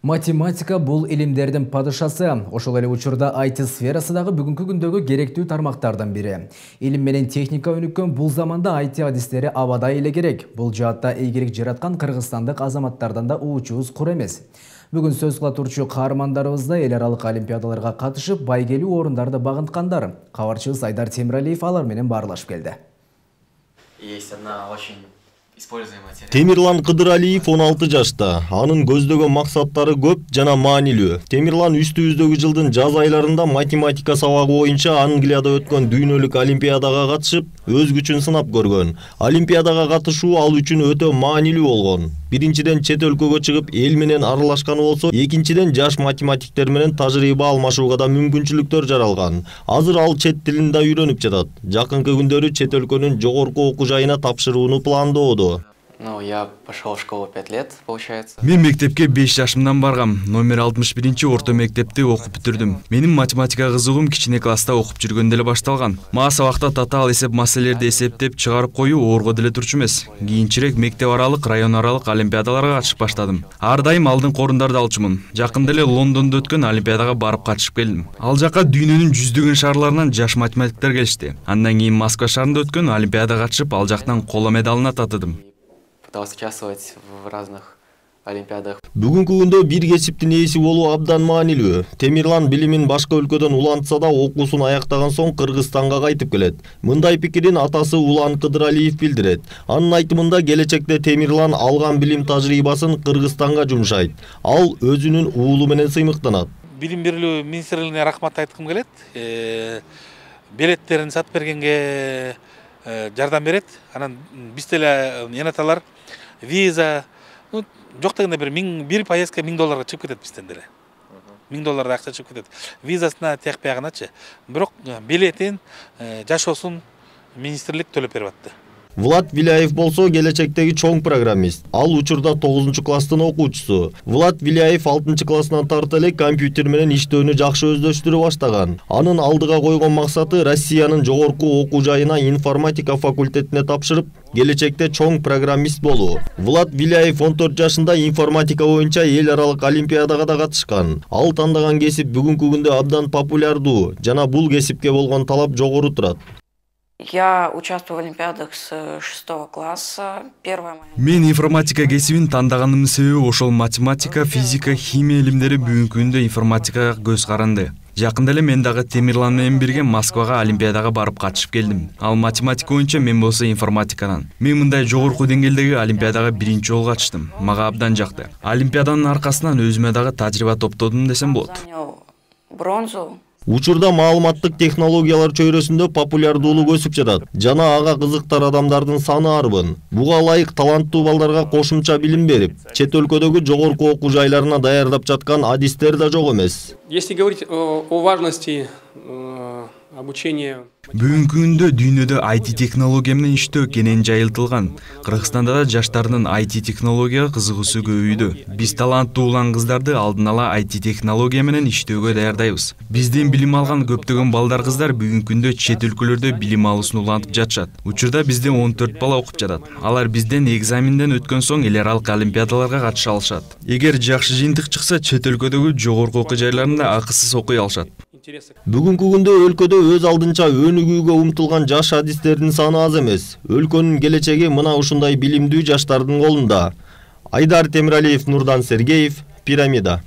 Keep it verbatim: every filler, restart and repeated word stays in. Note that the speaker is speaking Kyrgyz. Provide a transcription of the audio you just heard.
Математика бул илимдердин падышасы. Ошол эле учурда ай ти сферасы дагы бүгүнкү күндөгү керектүү тармактардан бири. Илим менен техника өнүккөн бул заманда ай ти адистери абадай эле керек. Бул жаатта ийгилик жараткан кыргызстандык азаматтардан да уучубуз кур эмес. Бүгүн сөз кыла турчу каармандарыбыз да эл аралык олимпиадаларга катышып, байгелүү орундарды багынткандар. Кабарчыбыз Айдар Темиралиев алар менен баарлашып келди. Есть одна очень используемая теорема. Темирлан Кыдыралиев он алты жашта. Анын көздөгөн максаттары көп жана маанилүү. Темирлан үстүбүздөгү жылдын жаз айларында математика сабагы боюнча Англияда өткөн дүйнөлүк олимпиадага катышып, өз күчүн сынап көргөн. Олимпиадага катышуу ал үчүн өтө маанилүү болгон. Биринчиден чет өлкөгө чыгып эл менен аралашканы болсо, экинчиден жаш математиктер менен тажрыйба алмашууга да мүмкүнчүлүктөр жаралган. Азыр ал чет тилин да үйрөнүп жатат. Жакынкы күндөрү чет өлкөнүн жогорку окуу жайына тапшырууну пландоодо. Ну, я пошел в школу пять лет, получается. Мен мектепке беш жашымдан баргам. Номер алтымыш биринчи орто мектепти окуп бүтүрдүм. Менин математика кызыгуум кичине класста окуп жүргөндө эле башталган. Мага сабакта татаал эсеп маселелерди эсептеп чыгарып коюу оорго деле турчу эмес. Кийинчерээк мектеп аралык, район аралык олимпиадаларга катышып баштадым. Ар дайым алдыңкы орундарды алчумун. Жакында эле Лондондо өткөн олимпиадага барып катышып келдим. Ал жака дүйнөнүн жүздөгөн шаарларынан жаш математиктер келишти. Андан кийин Москва шаарында өткөн олимпиадага катышып, ал жактан коло медалына татыдым. Пытался участвовать в разных олимпиадах. Бүгүнкү күндө бир кесиптин ээси болуу абдан маанилүү. Темирлан билимин башка өлкөдөн улантса да, окуусун аяктаган соң Кыргызстанга кайтып келет. Мындай пикирин атасы Улан Кыдыралиев билдирет. Анын айтымында келечекте Темирлан алган билим тажрыйбасын Кыргызстанга жумшайт. Ал өзүнүн уулу менен сыймыктанат. Билим берүү министрлигине рахмат айткым келет. Билеттерин сатып бергенге жардам берет. Анан биз деле энаталар виза, ну, жок дегенде бир миң бир поездка миң долларга чыгып кетет бизден деле. миң долларда акча чыгып кетет. Визасына тиякпаягыначы. Бирок билетин жашоосун министрлик төлөп берип атты. Влад Виляев болсо келечектеги чоң программист. Ал учурда тогузунчу класстын окуучусу. Влад Виляев алтынчы классынан тарта эле компьютер менен иштөөнү жакшы өздөштүрө баштаган. Анын алдыга койгон максаты Россиянын жогорку окуу жайына информатика факультетине тапшырып, келечекте чоң программист болуу. Влад Виляев он төрт жашында информатика боюнча эл аралык олимпиадага да катышкан. Ал тандаган кесип бүгүнкү күндө абдан популярдуу жана бул кесипке болгон талап жогору турат. Я участвую в олимпиадах с шестого класса. Первая моя... Мен информатика кесибин тандагандын себеби ошол математика, физика, химия илимдери бүгүнкү күндө информатикага көз каранды. Жакында эле мен дагы Темирлан менен бирге Москвага олимпиадага барып катышып келдим. Ал математика боюнча, мен болсо информатикадан. Мен мындай жогорку деңгээлдеги олимпиадага биринчи жолу катыштым. Мага абдан жакты. Олимпиаданын аркасынан өзүмө дагы тажрыйба топтодум десем болот. Бронзу. Учурда маалыматтык технологиялар чөйрөсүндө популярдуулук өсүп жатат. Жана ага кызыктар адамдардын саны арбын. Буга ылайык таланттуу балдарга кошумча билим берип, чет өлкөдөгү жогорку окуу жайларына даярдап жаткан адистер да жок эмес. Если говорить о важности обучения. Бүгүнкү күндө дүйнөдө ай ти технология менен иштөө кенен жайылтылган. Кыргызстанда да жаштардын ай ти технологияга кызыгуусу көбөйдү. Биз таланттуу улан кыздарды алдын ала ай ти технология менен иштөөгө даярдайбыз. Бизден билим алган көптөгөн балдар кыздар бүгүнкү күндө чет өлкөлөрдө билим алуусун улантып жатышат. Учурда бизде он төрт бала окуп жатат. Алар бизден экзаменден өткөн соң эл аралык олимпиадаларга катыша алышат. Эгер жакшы жыйынтык чыкса, чет өлкөдөгү жогорку окуу жайларында акысыз окуй алышат. Бүгүнкү күндө өлкөдө өз алдынча өнүгүүгө умтулган жаш адистердин саны аз эмес. Өлкөнүн келечеги мына ушундай билимдүү жаштардын колунда. Айдар Темиралиев, Нурдан Сергеев, Пирамида.